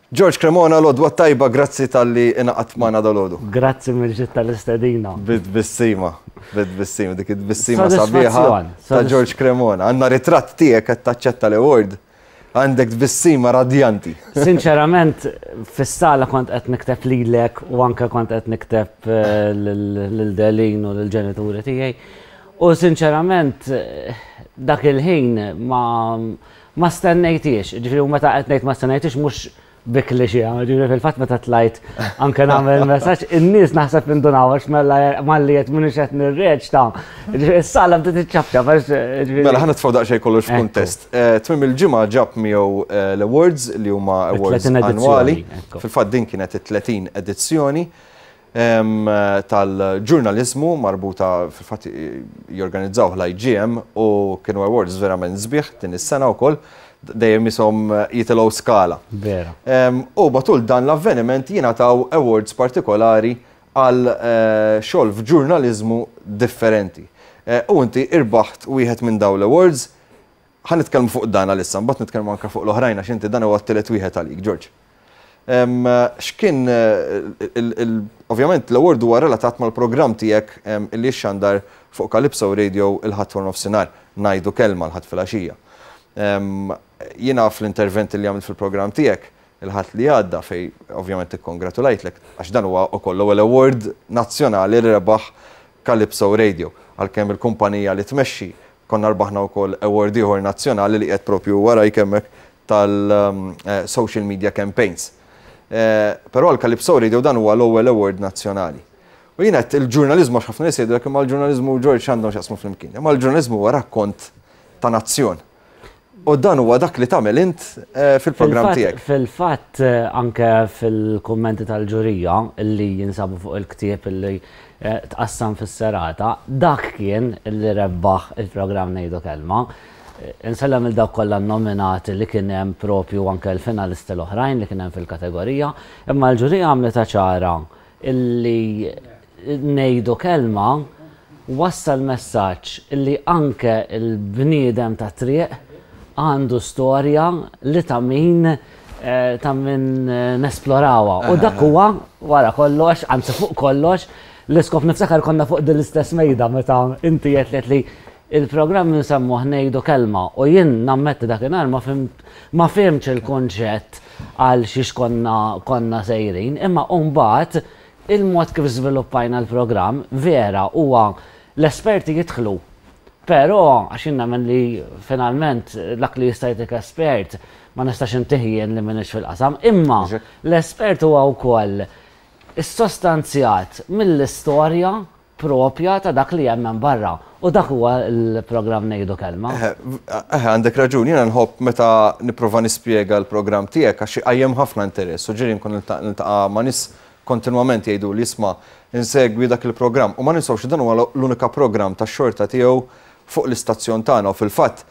George Cremona, l-għodwa t-tajba, grazzi talli ingħaqadt magħna dalgħodu. Grazzi mill-ġid tal-istedina. Bit-tbissima, bit-tbissima, dik it-tbissima sabiħa ta' George Cremona. Għandna ritratt tiegħek qed taċċetta l-award. Għandek tbissima radjanti. Sinċerament, fis-sala kont qed nikteb lilek u anke kont qed nikteb eh, lil Delin u lill-ġenituri tiegħi. U sinċerament, dak il-ħin ma Ma stennejthiex, jiġifieri u meta qed ngħid ma stennejthiex mhux bi cliché, jiġifieri fil-fatt meta tlajt anke nagħmel messaġġ, in-nies naħseb indunaw għax mela malli qed m'iniex qed nirreċta. Jiġifieri is-sala bdiet iċċapċap għax jiġifieri. Mela ħa nitfgħu daqsxejn kollox f'kuntest. Tmiem il-ġimgħa ġab miegħu l-awards li huma awards annwali. Fil-fatt din kienet it-30 edizzjoni. tal-ġurnaliżmu marbuta fil-fatt jorganizzawh l-IGM u kienu awards verament sbieħ din is-sena wkoll dejjem ishom jitilgħu skala. Vera. U matul dan l-avveniment jingħataw awards partikolari għal eh, xogħol f'ġurnaliżmu differenti. Eh, u inti irbaħt wieħed minn dawn l-awards. Ħa nitkellmu fuq dan għalissa, mbagħad nitkellmu anke fuq l-oħrajn għax inti dan huwa t-tielet wieħed għalik, George. X'kien ovvjament l-award huwa relatat mal-programm tiegħek illi jixxandar fuq Calypso Radio il-Ħadd wara nofsinhar, ngħidu kelma l-Ħadd filgħaxija. Jiena fl-intervent li għamilt fil-programm tiegħek il-Ħadd li għadda fejn ovvjament ikkongratulajtlek għax dan huwa wkoll l-ewwel award nazzjonali li rebaħ Calypso Radio, għalkemm il-kumpanija li tmexxi konna rbaħna wkoll award ieħor nazzjonali li qiegħed propju warajk hemmhekk tal-social media campaigns. Però għal Calypso Radio dan huwa l-ewwel award nazzjonali. U jien għedt il-ġurnaliżmu għax ħafna nies jgħidulek imma l-ġurnaliżmu u George x'għandhom x'jaqsmu flimkien. Imma l-ġurnaliżmu huwa rakkont ta' nazzjon. U dan huwa dak li tagħmel int fil-programm tiegħek. Fil-fatt anke fil-kummenti tal-ġurija li jinsabu fuq il-ktieb li tqassam fis-serata, dak kien li rebbaħ il-programm Ngħidu Kelma. Insellem lil dawk kollha nnominati li kien hemm propju anke l-finalisti l-oħrajn li kien hemm fil-kategorija, imma l-ġurija għamlitha ċara illi Ngħidu Kelma wassal messaġġ illi anke l-bniedem tat-triq għandu storja li ta' min ta' min nesplorawha. U dak huwa wara kollox, anzi fuq kollox, l-iskop niftakar konna fuq din l-istess mejda meta inti għedt li Il-programm insemmuh Ngħidu Kelma u jien nammetti dakinhar ma fhimt ma fhimtx il-kunċett għal xiex konna konna sejrin, imma mbagħad il-mod kif żviluppajna l-programm vera huwa l-esperti jidħlu. Però għax jien nemmen li finalment dak li jista' jtik espert ma nistax intih jien li m'iniex fil-qasam, imma l-espert huwa wkoll issostanzjat mill-istorja proprja ta' dak li hemm hemm barra. U dak huwa l-programm Ngħidu Kelma. Eħe, eħe, għandek raġun. Jiena nħobb meta nipprova nispjega l-programm tiegħek għax iqajjem ħafna interess u ġieli nkun niltaqa' ma' nies kontinwament jgħiduli isma' insegwi dak il-programm. U ma ninsewx li dan huwa l-unika programm tax-xorta tiegħu fuq l-istazzjon tagħna u fil-fatt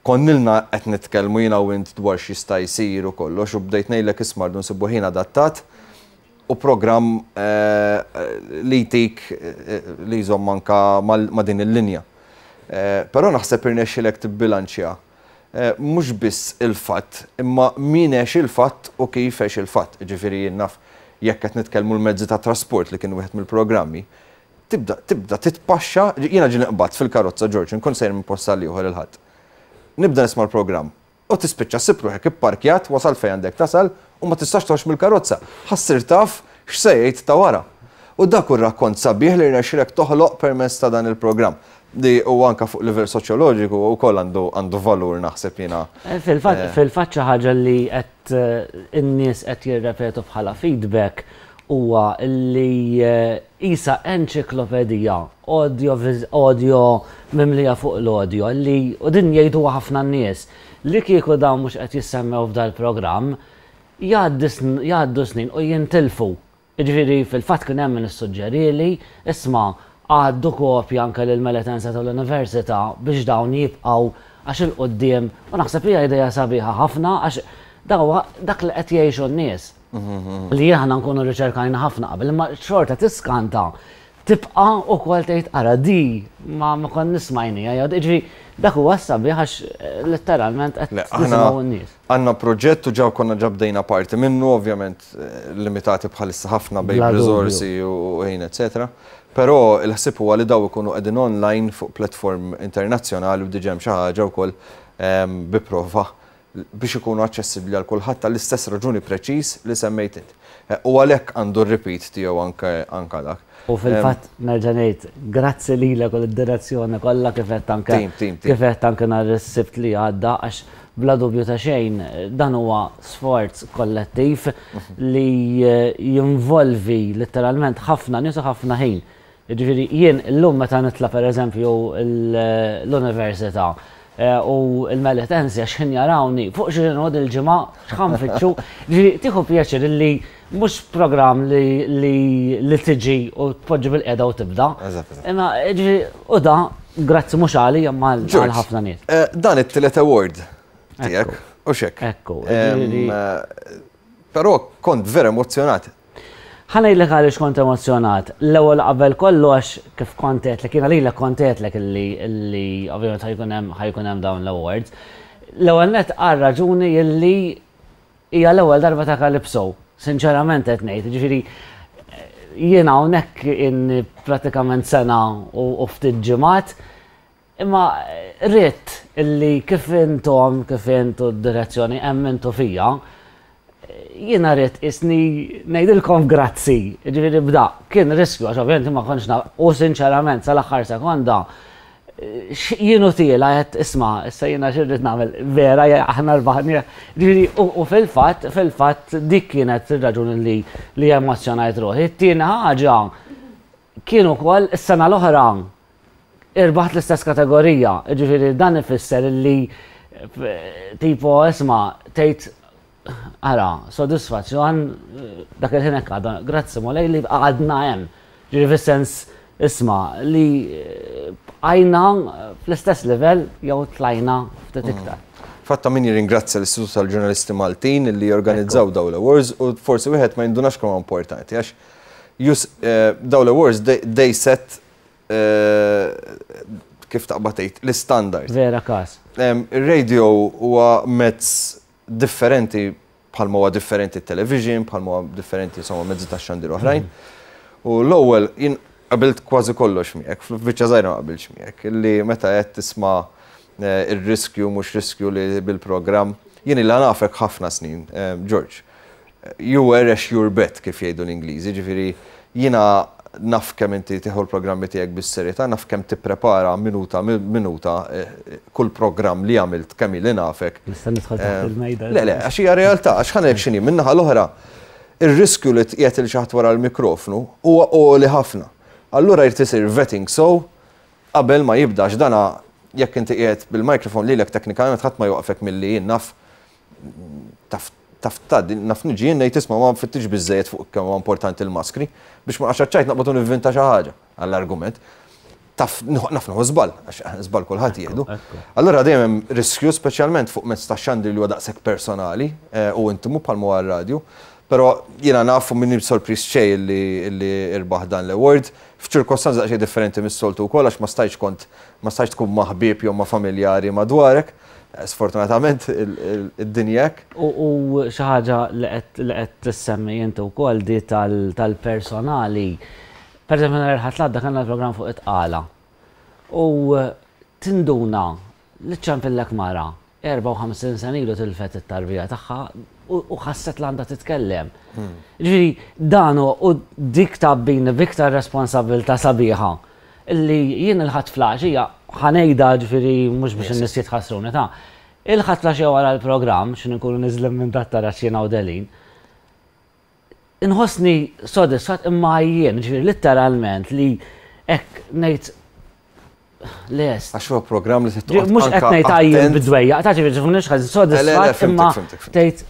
konnilna qed nitkellmu jiena u int dwar x'jista' jsir u kollox u bdejt ngħidlek isma' rridu nsibu ħin adattat u programm li jtik li jżomm anka ma' din il-linja. Però naħseb irnexxielek tibbilanċja mhux biss il-fatt, imma min għex il-fatt u kif għex il-fatt. Jiġifieri jien naf jekk qed nitkellmu l-mezzi ta' trasport li kien wieħed mill-programmi, tibda tibda titpaxxa, jiena ġieli nqbadt fil-karozza George, inkun sejjer minn post għal ieħor il-Ħadd. Nibda nisma' l-programm U tispiċċa ssib ruħek ipparkjat, wasalt fejn għandek tasal u ma tistax toħroġ mill-karozza. Ħa ssir taf x'se jgħid ta' wara. U dak hu r-rakkont sabiħ li rnexxielek toħloq permezz ta' dan il-programm. Li huwa anke fuq livell soċjoloġiku wkoll għandu għandu valur naħseb jiena. Fil-fatt fil-fatt xi ħaġa li qed in-nies qed jirrepetu bħala feedback huwa li qisha enċiklopedija audio audio mimlija fuq l-audio li u din jgħiduha ħafna nies li kieku dawn mhux qed jissemmew f'dal-programm jgħaddi jgħaddu snin u jintilfu. Jiġifieri fil-fatt kien hemm min issuġġerieli, isma' għaddu kopja anke lill-Meletense tal-Università biex dawn jibqgħu għax 'il quddiem u naħseb hija idea sabiħa ħafna għax dak huwa dak li qed jgħixu n-nies. Li aħna nkunu rriċerkajna ħafna qabel, imma xorta tiskanta. tibqa' ukoll tgħid ara di ma ma konniex smajniha jew jiġifieri dak huwa s-sabiħ għax letteralment qed nisimgħu n-nies. Għandna proġett u ġa konna ġa bdejna parti minnu, ovvjament limitati bħalissa ħafna bejn riżorsi u ħin eċetera. Però il-ħsieb huwa li daw ikunu qegħdin online fuq platform internazzjonali u diġà hemm xi ħaġa wkoll bi prova biex ikunu aċċessibbli għal kulħadd għall-istess raġuni preċiż li semmejt int. U għalhekk għandu r-repeat tiegħu anke anke dak. U fil-fatt nerġa' ngħid grazzi lilek u lid-direzzjoni kollha kif għedt anke kif għedt anke nhar is-Sibt li għadda għax bla dubju ta' xejn dan huwa sforz kollettiv li jinvolvi letteralment ħafna nies u ħafna ħin. Jiġifieri jien illum meta nitla' pereżempju l-università u l-Melitensi għax ħin jarawni fuq xi noqgħod il-ġimgħa x'ħa nfittxu. Jiġifieri tieħu pjaċir illi mhux programm li li tiġi u tpoġġi bilqiegħda u tibda. Imma jiġifieri u da grazzi mhux għalija imma għal ħafna nies. Dan it-tielet award tiegħek, hux hekk? Ekku. Però kont vera emozzjonat. Ħa ngħidlek għaliex kont emozzjonat. L-ewwel qabel kollox kif kont għedtlek, jiena lilek kont għedtlek illi illi ovvjament ħa jkun hemm ħa jkun hemm dawn l-awards. L-ewwel nett għal raġuni illi hija l-ewwel darba ta' Calypso. Sinċerament qed ngħid, jiġifieri jiena hawnhekk inni pratikament sena u ftit ġimgħat, imma ridt illi kif intom, kif int u d-direzzjoni emmintu fija, jiena rrid isni ngħidilkom grazzi, ġifieri bda, kien riskju għax ovvjament ma kontx naf, u sinċerament sal-aħħar sekonda jienu tiela qed isma' issa jiena xi rrid nagħmel vera aħna rbaħni. Ġifieri u fil-fatt, fil-fatt dik kienet ir-raġuni li li emozzjonajt ruħi. It-tieni ħaġa kien ukoll is-sena l-oħra irbaħt l-istess kategorija, ġifieri dan ifisser li tipo isma' tgħid ara, sodisfazzjon dak il-ħin hekk għadha, grazzi Mulej li għadna hemm. Ġifieri fis-sens isma' li bqajna fl-istess livell jew tlajna ftit iktar. Fatt ta' min jirringrazzja l-Istitut tal-Ġurnalisti Maltin li jorganizzaw dawn l-awards u forsi wieħed ma jindunax kemm importanti għax dawn l-awards they set kif taqbad tgħid l-istandard. Vera każ. Ir-radio huwa mezz differenti bħalma huwa differenti t-television, bħalma huwa differenti insomma mezzi ta' xandir oħrajn. U l-ewwel jien qabilt kważi kollox miegħek, f'biċċa żgħira ma qabilx miegħek, illi meta qed tisma' ir-riskju mhux riskju li bil-programm, jien ilha nafek ħafna snin, George. You were a sure bet kif jgħidu l-Ingliżi, ġifieri jiena naf kemm inti tieħu l-programmi tiegħek bis-serjetà, naf kemm tipprepara minuta minuta kull programm li għamilt kemm ili nafek. Nista' nidħol taħt il-mejda. Le, le, għax hija realtà, għax ħa ngħidlek x'inhi, min-naħa l-oħra, ir-riskju li tqiegħed lil xi ħadd wara l-mikrofnu huwa għoli ħafna. Allura jrid isir vetting sew qabel ma jibda għax dana jekk inti qiegħed bil-microphone lilek teknikament ħadd ma jwaqfek milli jien naf taf taf tgħaddi, naf niġi jien ngħid isma' ma nfittix biżżejjed fuq kemm huwa importanti l-maskri biex ma nqax ċajt naqbad u nivvinta xi ħaġa għall-argument. Taf naf nieħu żball, għax żball kulħadd jieħdu. Allura dejjem hemm riskju speċjalment fuq mezz ta' xandir li huwa daqshekk personali eh, u intimu bħalma huwa r-radju. Però jiena naf u minni sorpriż xejn li li irbaħ dan l-award f'ċirkostanzi daqsxejn differenti mis-soltu wkoll għax ma stajtx kont ma stajtx tkun ma' ħbieb jew ma' familjari madwarek. Sfortunatament id-dinja hekk. U xi ħaġa li qed tissemmi inti wkoll di tal-personali. Per eżempju nhar il-Ħadd l-għadda kellna l-programm fuq it-tqala. U tinduna li ċċempillek mara 54 sena ilu tilfet it-tarbija tagħha u ħasset li għandha titkellem. Ġifieri dan u dik tgħabbini b'iktar responsabbiltà sabiħa Illi jien il-Ħadd fl-għaxija, ħa ngħidha ġifieri mhux biex in-nies jitħassruni ta', il-Ħadd fl-għaxija wara l-programm, x'ħin inkunu niżlin minn dat-taraġ jiena u Delin, inħossni sodisfatt imma għajjien, ġifieri litteralment li hekk ngħid lest. Għax huwa programm li trid toqgħod Mhux qed ngħid għajjien bid-dwejjaq, ta' ġifieri tifhimniex ħażin, sodisfatt imma tgħid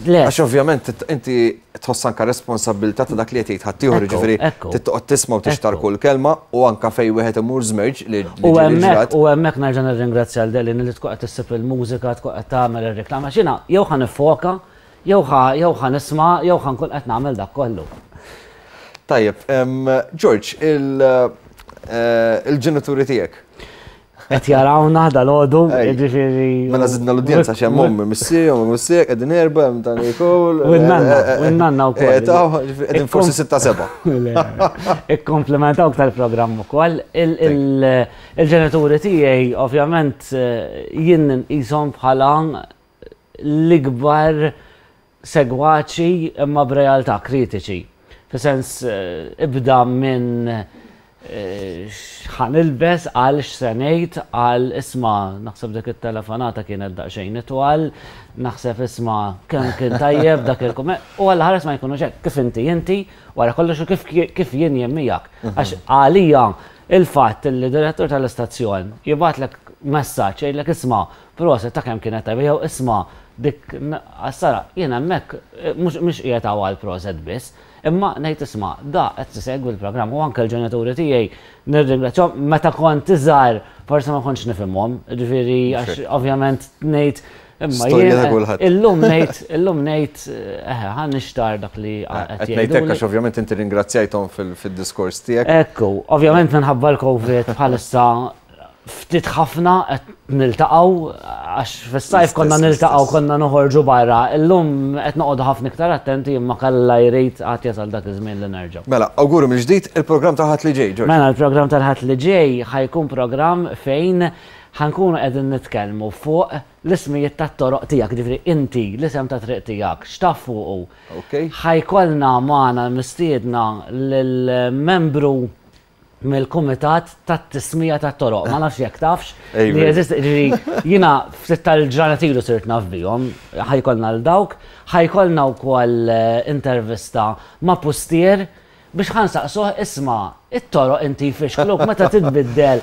lest. Għax ovvjament inti tħoss anke responsabbiltà ta' dak li qed jgħid ħaddieħor, jiġifieri trid toqgħod tisma' u tixtar kull kelma u anke fejn wieħed imur żmerġ li U hemmhekk u hemmhekk nerġa' nirringrazzja lil Delin li tkun qed issib il-mużika, tkun qed tagħmel ir-reklam għax jiena jew ħa niffoka, jew ħa jew ħa nisma' jew ħa nkun qed nagħmel dak kollu. Tajjeb, George, il-ġenituri tiegħek. Qed jarawna dal-għodu, jiġifieri. Mela żidna l-udjenza x'hemm ommi, missier, ommi missier, qegħdin erba' hemm ta' Nicole. U n-nanna, u n-nanna wkoll. Qegħdin forsi sitta seba'. Ikkomplementawk tal-programm ukoll. Il-ġenituri tiegħi ovvjament jien nqishom bħala l-ikbar segwaċi imma b'realtà kritiċi. Fis-sens ibda minn x'ħa nilbes għal x'se ngħid għal isma' naħseb dik it-telefonata kienet daqsxejn itwal, naħseb isma' kemm kien tajjeb dak il-kumment u alla ħares ma jkunux hekk kif inti inti wara kollox u kif kif jien jien miegħek. Għax għalija il-fatt li direttur tal-istazzjon jibgħatlek messaġġ jgħidlek isma' Proset ta' kemm kienet tajba jew isma' dik għas-sara, jien hemmhekk mhux mhix qiegħed hawn għal proset biss, imma ngħid isma' da qed isegwi l-programm u anke l-ġenituri tiegħi nirringrazzjahom meta kont iżgħar forsi ma kontx nifhimhom, jiġifieri għax ovvjament ngħid imma jien illum ngħid illum ngħid eħe ħa nixtarr dak li qed jgħidu. Qed ngħid hekk għax ovvjament inti ringrazzjajthom fid-diskors tiegħek. Ekku, ovvjament minħabba l-Covid bħalissa ftit ħafna qed niltaqgħu għax fis-sajf konna niltaqgħu konna noħorġu barra. Illum qed noqogħdu ħafna iktar attenti imma kalla jrid għad jasal dak iż-żmien li nerġgħu. Mela, awguri mill-ġdid il-programm tal-Ħadd li ġej, Ġorġ. Mela, il-programm tal-Ħadd li ġej ħa jkun programm fejn ħa nkunu qegħdin nitkellmu fuq l-ismijiet tat-toroq tiegħek, jiġifieri inti l-isem ta' triq tiegħek x'taf fuqu. Ħa jkollna magħna mistiedna lill-membru mill-Kumitat tat-Tismija tat-Toroq. Ma nafx jekk tafx. Li jeżisti, ġifieri jiena ftit tal-ġranet ilu sirt naf bihom, ħa jkollna 'l dawk, ħa jkollna wkoll intervista ma' pustier biex ħa nsaqsuh isma' it-toroq inti jfixkluk meta titbiddel,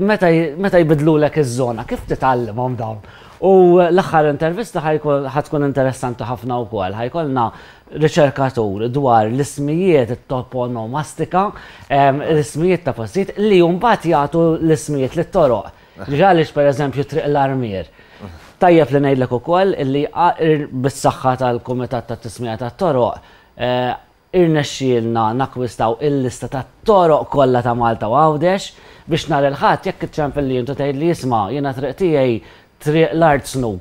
meta jbiddlulek iż-żona, kif titgħallimhom dawn? U l-aħħar intervista ħa tkun interessanti ħafna wkoll, ħa jkollna riċerkatur dwar l-ismijiet, it-toponomastika, l-ismijiet ta' postijiet li mbagħad jagħtu l-ismijiet lit-toroq. Għaliex pereżempju Triq l-Armier. Tajjeb li ngħidlek ukoll li bis-saħħa tal-Kumitat tat-Tismija tat-Toroq irnexxielna nakkwistaw il-lista tat-toroq kollha ta' Malta u Għawdex biex nhar il-Ħadd jekk iċċempilli int u tgħidli isma' jiena triq tiegħi Triq l-Artsnu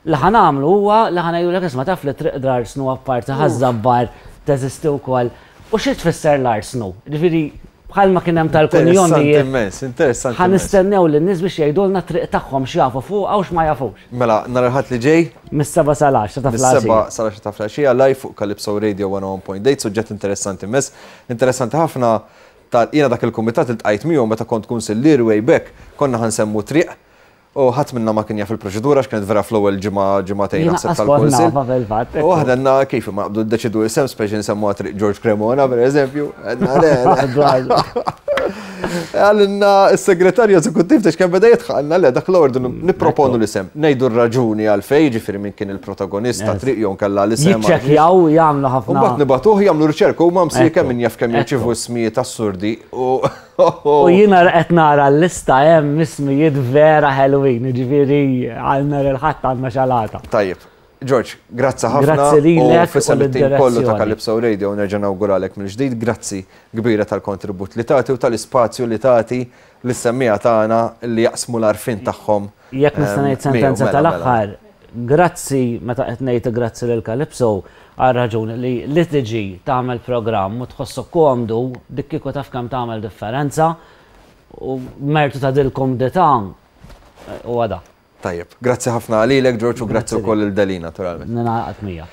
Li ħa nagħmlu huwa li ħa ngħidulek isma' taf li Triq l-Arsnu apparti Ħaż-Żabbar teżisti wkoll. U xi tfisser l-Arsnu? Jiġifieri bħalma kien hemm tal-kunjomijiet. Interessanti immens, interessanti Ħa immens. nistennew lin-nies biex jgħidulna t-triq tagħhom x'jafu fuqha u x'ma jafux. Mela, nhar il-Ħadd li ġej? Mis-sebgħa sal-għaxra ta' filgħaxija. Mis-sebgħa sal-għaxra ta' filgħaxija live fuq Calypso Radio 101.8, suġġett interessanti immens. Interessanti ħafna ta' jiena dak il-kumitat iltqajt miegħu meta kont kunsillier way back, konna ħa nsemmu triq U ħadd minna ma kien jaf il-proċedura għax kienet vera fl-ewwel ġimgħa ġimagħtejn naħseb tal-kunsill. Fil-fatt. U aħna għandna kif imma naqbdu ndeċidu isem speċi nsemmuha triq George Cremona pereżempju. Għedna le. Għalinna s-segretarju eżekuttiv ta' kemm beda jidħaq għalna le dak l-ordu nipproponu l-isem. Ngħidu r-raġuni għalfejn, jiġifieri min kien il-protagonista triq jew nkella l-isem. Jiċċekkjaw jagħmlu ħafna. U mbagħad nibagħtuh jagħmlu riċerka huma msieken min jaf kemm jirċievu ismijiet assurdi u U jiena qed nara l-lista hemm ismijiet vera ħelwin, jiġifieri għal nhar il-Ħadd għandna xalata. Tajjeb. George, grazzi ħafna. Grazzi lilek. U f'isem it-tim kollu ta' Calypso Radio nerġa' nawguralek mill-ġdid grazzi kbira tal-kontribut li tagħti u tal-ispazju li tagħti lis-semmiegħa tagħna li jaqsmu l-għarfien tagħhom. Jekk nista' ngħid sentenza mela, mela. tal-aħħar, grazzi meta qed ngħid grazzi lil Calypso għar-raġuni li li tiġi tagħmel programm u tħossok komdu dik kieku taf kemm tagħmel differenza u mertu ta' dil-kumdità huwa da. Tajjeb, grazzi ħafna lilek George u grazzi wkoll lil Deli naturalment. Ningħaqad miegħek.